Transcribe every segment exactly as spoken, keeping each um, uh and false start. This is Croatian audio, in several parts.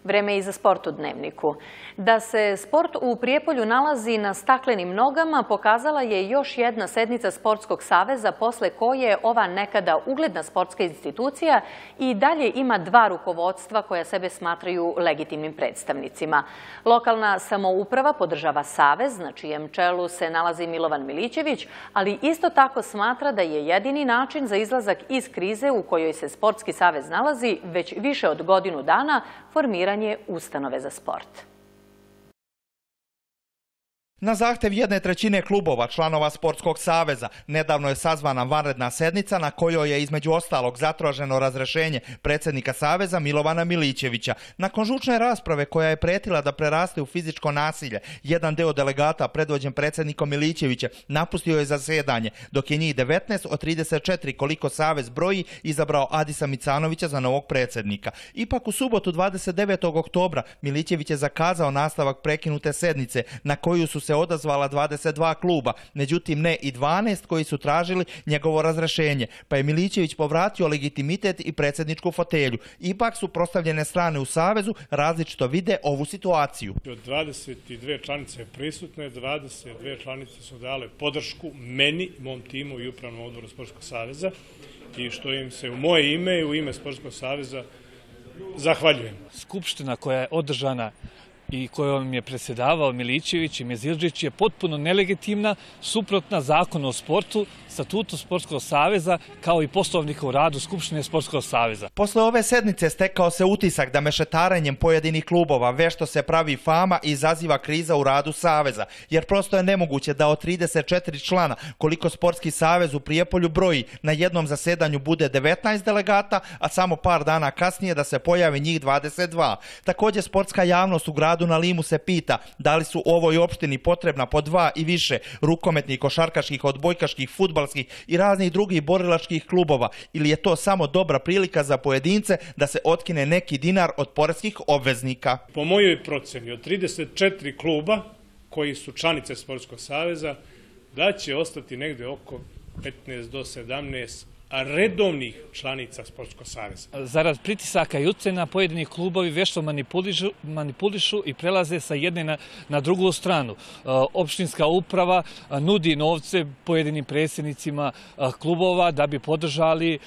Vreme je i za sport u Dnevniku. Da se sport u Prijepolju nalazi na staklenim nogama pokazala je još jedna sednica Sportskog saveza posle koje ova nekada ugledna sportska institucija i dalje ima dva rukovodstva koja sebe smatraju legitimnim predstavnicima. Lokalna samouprava podržava savez, na čijem čelu se nalazi Milovan Milićević, ali isto tako smatra da je jedini način za izlazak iz krize u kojoj se Sportski savez nalazi već više od godinu dana formiranje ustanove za sport. Na zahtev jedne trećine klubova, članova Sportskog saveza, nedavno je sazvana vanredna sednica na kojoj je između ostalog zatraženo razrešenje predsjednika saveza Milovana Milićevića. Nakon žučne rasprave koja je pretila da preraste u fizičko nasilje, jedan deo delegata predvođen predsjednikom Milićevića napustio je zasedanje, dok je njih devetnaest od trideset četiri koliko savez broji izabrao Adisa Micanovića za novog predsjednika. Ipak u subotu dvadeset devetog oktobra Milićević je zakazao nastavak prekinute sednice na koju su se odazvala dvadeset dva kluba, međutim ne i dvanaest koji su tražili njegovo razrešenje, pa je Milićević povratio legitimitet i predsjedničku fotelju. Ipak su prostavljene strane u savezu različito vide ovu situaciju. Od dvadeset dve članice prisutne, dvadeset dve članice su dale podršku meni, mom timu i upravnom odboru Sportskog saveza i što im se u moje ime i u ime Sportskog saveza zahvaljujem. Skupština koja je održana i kojom je predsjedavao Milićević i Mezildžić je potpuno nelegitimna, suprotna zakonu o sportu, statutu Sportskog saveza, kao i poslovnika u radu Skupštine Sportskog saveza. Posle ove sednice stekao se utisak da mešetarenjem pojedinih klubova vešto se pravi fama i izaziva kriza u radu saveza, jer prosto je nemoguće da od trideset četiri člana koliko Sportski savez u Prijepolju broji na jednom zasedanju bude devetnaest delegata, a samo par dana kasnije da se pojavi njih dvadeset dva. Također sportska javnost u gradu na Limu se pita da li su u ovoj opštini potrebna po dva i više rukometnih, košarkaških, odbojkaških, fudbalskih i raznih drugih borilačkih klubova, ili je to samo dobra prilika za pojedince da se otkine neki dinar od poreskih obveznika. Po mojoj proceni od trideset četiri kluba koji su članice Sportskog saveza da će ostati negde oko petnaest do sedamnaest redovnih članica Sportskog saveza. Zarad pritisaka i ucena pojedini klubovi vešto manipulišu, manipulišu i prelaze sa jedne na, na drugu stranu. Opštinska uprava nudi novce pojedinim predsjednicima klubova da bi podržali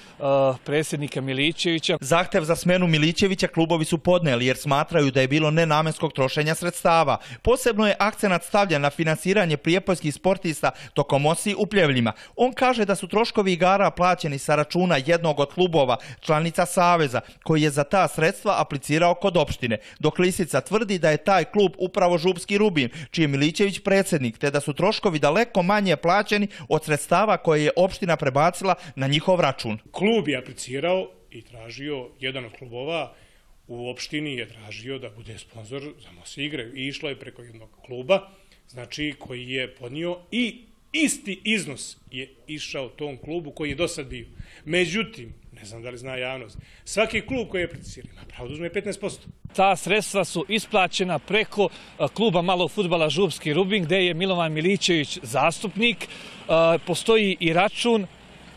predsjednika Milićevića. Zahtev za smenu Milićevića klubovi su podneli jer smatraju da je bilo nenamenskog trošenja sredstava. Posebno je akcenat stavljen na finansiranje prijepoljskih sportista tokom osi u Pljevljima. On kaže da su troškovi igara plaćeni sa računa jednog od klubova, članica saveza, koji je za ta sredstva aplicirao kod opštine, dok Lisica tvrdi da je taj klub upravo Župski Rubin, čiji je Milićević predsjednik, te da su troškovi daleko manje plaćeni od sredstava koje je opština prebacila na njihov račun. Klub je aplicirao i tražio, jedan od klubova u opštini je tražio da bude sponsor za Mosi igre i išlo je preko jednog kluba, znači koji je podnio i isti iznos je išao tom klubu koji je do sad bio. Međutim, ne znam da li zna javnost, svaki klub koji je aplicirao ima pravo da uzme petnaest posto. Ta sredstva su isplaćena preko kluba malog fudbala Župski Rubin, gde je Milovan Milićević zastupnik. Postoji i račun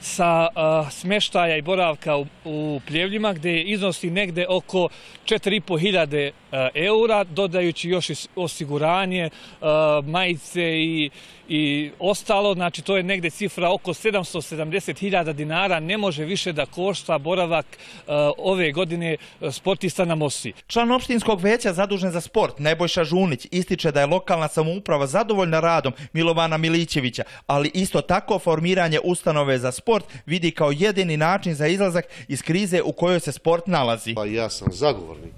sa uh, smeštaja i boravka u, u Pljevljima, gdje iznosi negde oko četiri i po hiljade eura, dodajući još i osiguranje, uh, majice i, i ostalo. Znači, to je negde cifra oko sedamsto sedamdeset hiljada dinara. Ne može više da košta boravak uh, ove godine sportista na Mosi. Član opštinskog veća zadužen za sport, Nebojša Žunić, ističe da je lokalna samouprava zadovoljna radom Milovana Milićevića, ali isto tako formiranje ustanove za sport sport vidi kao jedini način za izlazak iz krize u kojoj se sport nalazi. Pa ja sam zagovornik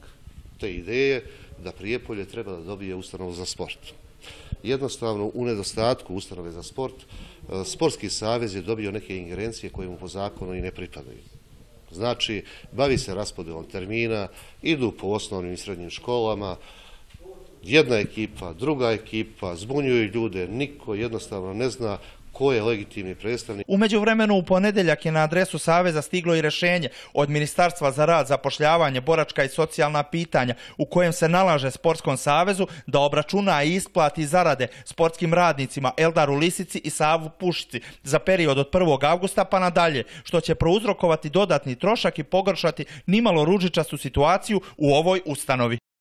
te ideje da Prijepolje treba da dobije ustanovu za sport. Jednostavno, u nedostatku ustanove za sport, Sportski savez je dobio neke ingerencije koje mu po zakonu i ne pripadaju. Znači, bavi se raspodelom termina, idu po osnovnim i srednjim školama, jedna ekipa, druga ekipa, zbunjuju ljude, niko jednostavno ne zna ko je legitimni predstavnik. U međuvremenu u ponedeljak je na adresu Saveza stiglo i rješenje od Ministarstva za rad, zapošljavanje, boračka i socijalna pitanja u kojem se nalaže Sportskom savezu da obračuna i isplati zarade sportskim radnicima Eldaru Lisici i Savu Pušici za period od prvog avgusta pa nadalje, što će prouzrokovati dodatni trošak i pogoršati nimalo ružičastu situaciju u ovoj ustanovi.